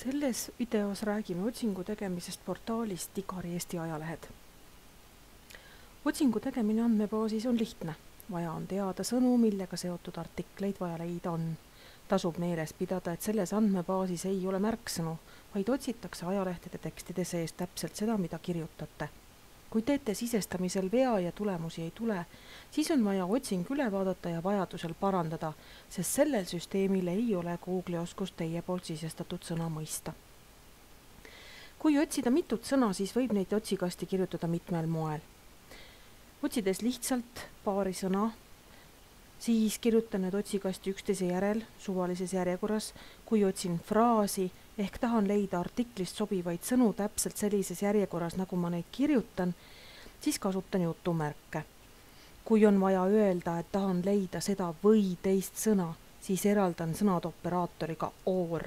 Selles videos räägime otsingu tegemisest portaalist Digari Eesti ajalehed. Otsingu tegemine andmebaasis on lihtne. Vaja on teada sõnu, millega seotud artikleid vaja leida on. Tasub meeles pidada, et selles andmebaasis ei ole märksõnu, vaid otsitakse ajalehtede tekstide sees täpselt seda, mida kirjutate. Kui teete sisestamisel vea ja tulemusi ei tule, siis on vaja otsing üle vaadata ja vajadusel parandada, sest sellel süsteemil ei ole Google'i oskust teie poolt sisestatud sõna mõista. Kui otsida mitut sõna, siis võib neid otsikasti kirjutada mitmel moel. Otsides lihtsalt paari sõna, siis kirjutan need otsikasti üksteise järel suvalises järjekorras. Kui otsin fraasi ehk tahan leida artiklist sobivaid sõnu täpselt sellises järjekorras, nagu ma neid kirjutan, siis kasutan jutumärke. Kui on vaja öelda, et tahan leida seda või teist sõna, siis eraldan sõnad operaatoriga OR.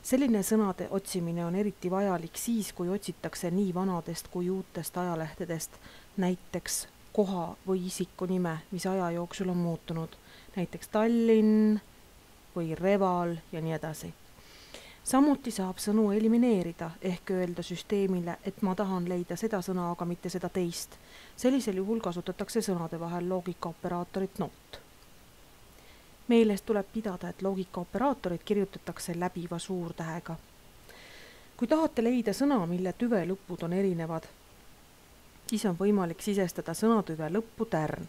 Selline sõnade otsimine on eriti vajalik siis, kui otsitakse nii vanadest kui uutest ajalehtedest, näiteks koha või isiku nime, mis aja jooksul on muutunud, näiteks Tallinn või Reval ja nii edasi. Samuti saab sõnu elimineerida ehk öelda süsteemile, et ma tahan leida seda sõna, aga mitte seda teist. Sellisel juhul kasutatakse sõnade vahel loogikaoperaatorit NOT. Meeles tuleb pidada, et loogikaoperaatorit kirjutatakse läbiva suurtähega. Kui tahate leida sõna, mille tüve lõpud on erinevad, siis on võimalik sisestada sõnatüve lõppu tärn.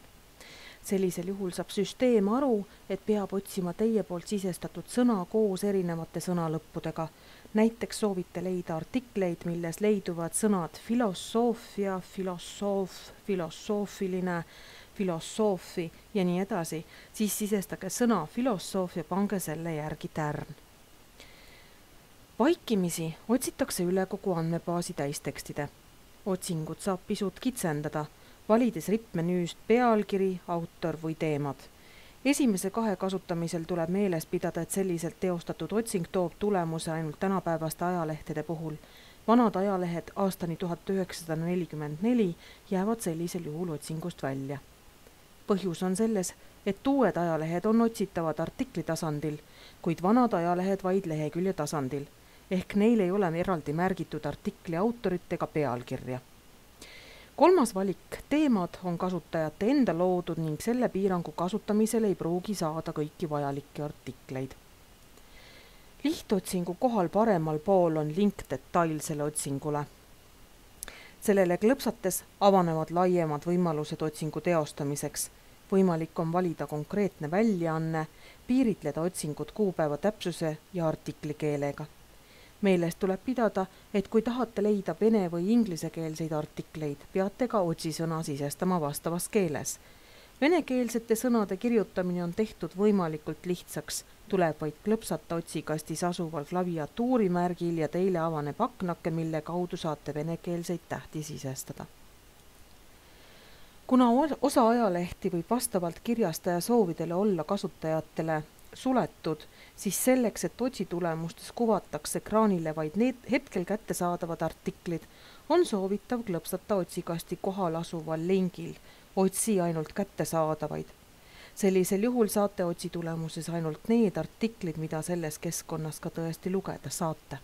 Sellisel juhul saab süsteem aru, et peab otsima teie poolt sisestatud sõna koos erinevate sõnalõppudega. Näiteks soovite leida artikleid, milles leiduvad sõnad filosoofia, filosoof, filosoofiline, filosoofi ja nii edasi, siis sisestage sõna filosoof ja pange selle järgi tärn. Vaikimisi otsitakse üle kogu andmebaasi täistekstide. Otsingut saab pisut kitsendada, valides rippmenüüst pealkiri, autor või teemad. Esimese kahe kasutamisel tuleb meeles pidada, et selliselt teostatud otsing toob tulemuse ainult tänapäevaste ajalehtede puhul. Vanad ajalehed aastani 1944 jäävad sellisel juhul otsingust välja. Põhjus on selles, et uued ajalehed on otsitavad artikli tasandil, kuid vanad ajalehed vaid lehekülje tasandil, ehk neil ei ole eraldi märgitud artikli autorit ega pealkirja. Kolmas valik, teemad, on kasutajate enda loodud ning selle piirangu kasutamisel ei pruugi saada kõiki vajalikke artikleid. Lihtotsingu kohal paremal pool on link detailsele otsingule. Sellele klõpsates avanevad laiemad võimalused otsingu teostamiseks. Võimalik on valida konkreetne väljaanne, piiritleda otsingut kuupäeva täpsuse ja artiklikeelega. Meeles tuleb pidada, et kui tahate leida vene või inglisekeelseid artikleid, peate ka otsisõna sisestama vastavas keeles. Venekeelsete sõnade kirjutamine on tehtud võimalikult lihtsaks, tuleb vaid klõpsata otsikastis asuval klaviatuurimärgil ja teile avaneb aknake, mille kaudu saate venekeelseid tähti sisestada. Kuna osa ajalehti võib vastavalt kirjastaja soovidele olla kasutajatele suletud, siis selleks, et otsitulemustes kuvatakse ekraanile vaid need hetkel kättesaadavad artiklid, on soovitav klõpsata otsikasti kohal asuval lingil otsi ainult kättesaadavaid. Sellisel juhul saate otsitulemuses ainult need artiklid, mida selles keskkonnas ka tõesti lugeda saate.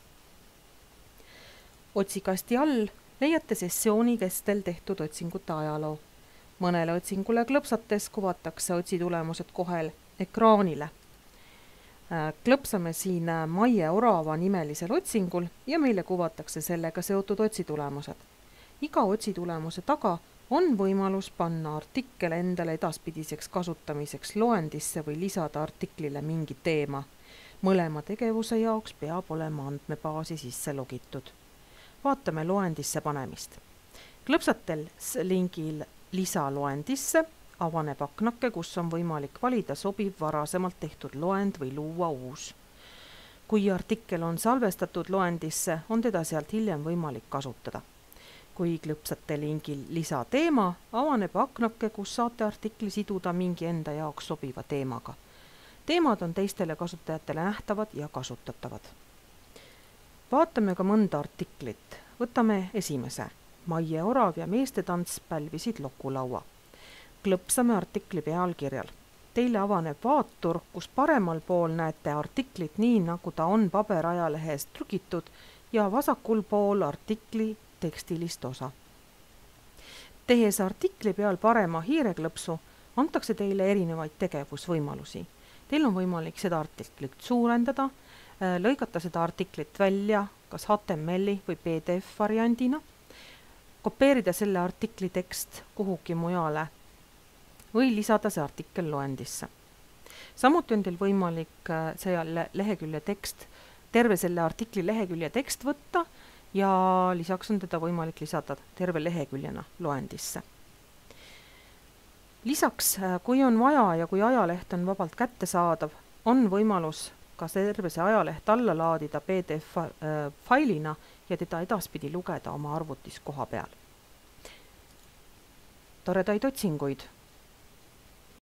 Otsikasti all leiate sessiooni kestel tehtud otsingute ajaloo. Mõnele otsingule klõpsates kuvatakse otsitulemused kohel ekraanile. Klõpsame siin Maie Orava nimelisel otsingul ja meile kuvatakse sellega seotud otsitulemused. Iga otsitulemuse taga on võimalus panna artikkel endale edaspidiseks kasutamiseks loendisse või lisada artiklile mingi teema. Mõlema tegevuse jaoks peab olema andmebaasi sisse logitud. Vaatame loendisse panemist. Klõpsatel lingil lisa loendisse avaneb aknake, kus on võimalik valida sobiv varasemalt tehtud loend või luua uus. Kui artikkel on salvestatud loendisse, on teda sealt hiljem võimalik kasutada. Kui klõpsate lingil lisa teema, avaneb aknake, kus saate artikli siduda mingi enda jaoks sobiva teemaga. Teemad on teistele kasutajatele nähtavad ja kasutatavad. Vaatame ka mõnda artiklit. Võtame esimese. Maie Orav ja meestetants pälvisid lokulaua. Klõpsame artikli pealkirjal. Teile avaneb vaatur, kus paremal pool näete artiklit nii, nagu ta on paberajalehest trükitud ja vasakul pool artikli tekstilist osa. Tehes artikli peal parema hiireklõpsu, antakse teile erinevaid tegevusvõimalusi. Teil on võimalik seda artiklit suurendada, lõigata seda artiklit välja kas HTML-i või PDF variandina, kopeerida selle artikli tekst kuhugi mujale või lisada see artikkel loendisse. Samuti on teil võimalik see lehekülje tekst, terve selle artikli lehekülje tekst võtta ja lisaks on teda võimalik lisada terve leheküljena loendisse. Lisaks, kui on vaja ja kui ajaleht on vabalt kättesaadav, on võimalus ka terve see ajaleht alla laadida PDF failina ja teda edaspidi lugeda oma arvutis koha peal. Toredaid otsinguid!